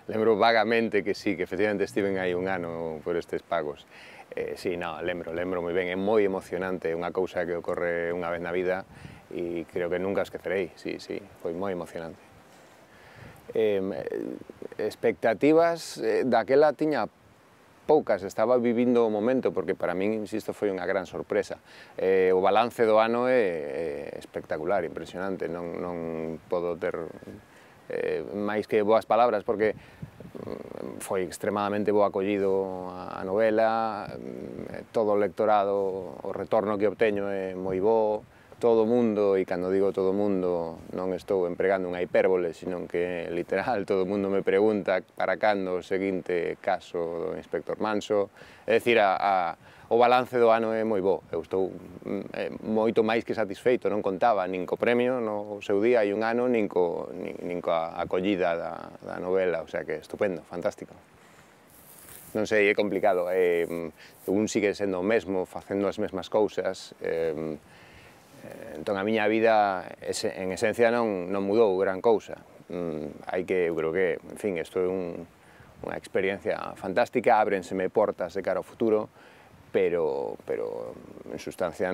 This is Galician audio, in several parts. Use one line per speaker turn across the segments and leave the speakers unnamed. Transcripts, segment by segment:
Lembro vagamente que sí, que efectivamente estiven aí un ano por estes pagos. Sí, no, lembro moi ben, é moi emocionante, é unha cousa que ocorre unha vez na vida e creo que nunca esquecerei, sí, foi moi emocionante. Expectativas daquela tiña poucas, estaba vivindo o momento, porque para min, insisto, foi unha gran sorpresa. O balance do ano é espectacular, impresionante, non podo ter máis que boas palabras, porque foi extremadamente bo acollido a novela, todo o lectorado, o retorno que obteño é moi bo, todo o mundo, e cando digo todo o mundo non estou empregando unha hipérbole, senón que literal todo o mundo me pregunta para cando o seguinte caso do Inspector Manso, é dicir, o balance do ano é moi bo, eu estou moito máis que satisfeito, non contaba nin co premio no seu día hai un ano, nin coa acollida da novela, o sea que estupendo, fantástico. Non sei, é complicado, un sigue sendo o mesmo, facendo as mesmas cousas, entón a miña vida en esencia non mudou gran cousa, hai que, eu creo que, en fin, isto é unha experiencia fantástica, ábrenseme portas de cara ao futuro, pero en sustancia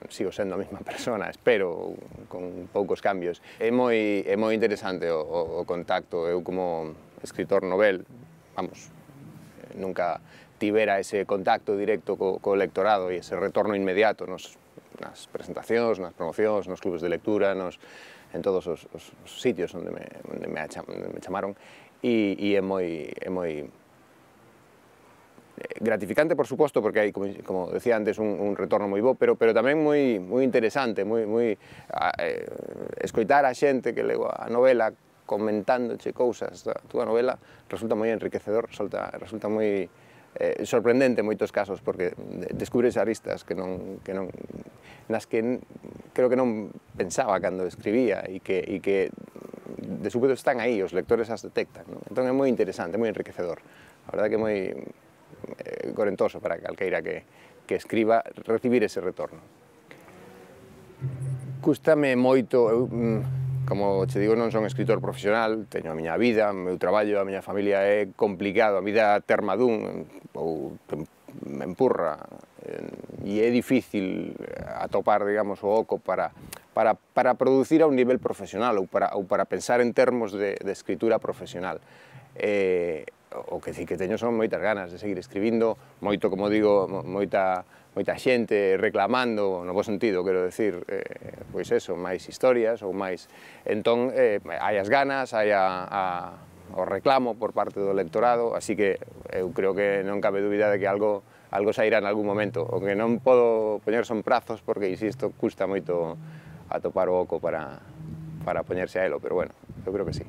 sigo sendo a mesma persona, espero, con poucos cambios. É moi interesante o contacto, eu como escritor novel, vamos, nunca tivera ese contacto directo co lectorado e ese retorno inmediato nas presentacións, nas promocións, nos clubes de lectura, en todos os sitios onde me chamaron, e é moi gratificante, por suposto, porque hai, como decía antes, un retorno moi bo, pero tamén moi interesante, escoitar a xente que leu a novela comentándoche cousas da túa novela resulta moi enriquecedor, resulta moi sorprendente en moitos casos, porque descubres aristas nas que creo que non pensaba cando escribía e que de súpeto están aí, os lectores as detectan, entón é moi interesante, moi enriquecedor, a verdade que é moi gorentoso para calqueira que escriba recibir ese retorno. Cústame moito, eu, como che digo, non son escritor profesional, teño a miña vida, o meu traballo, a miña familia, é complicado, a vida termadún ou me empurra, e é difícil atopar, digamos, o oco para producir a un nivel profesional ou para pensar en termos de escritura profesional. O que sí que teño son moitas ganas de seguir escribindo, moito, como digo, moita xente reclamando, no bo sentido, quero decir, pois eso, máis historias ou máis. Entón, hai as ganas, hai o reclamo por parte do lectorado, así que eu creo que non cabe dúbida de que algo sairá en algún momento. O que non podo poñer son prazos, porque, insisto, custa moito atopar o oco para poñerse a elo, pero bueno, eu creo que sí.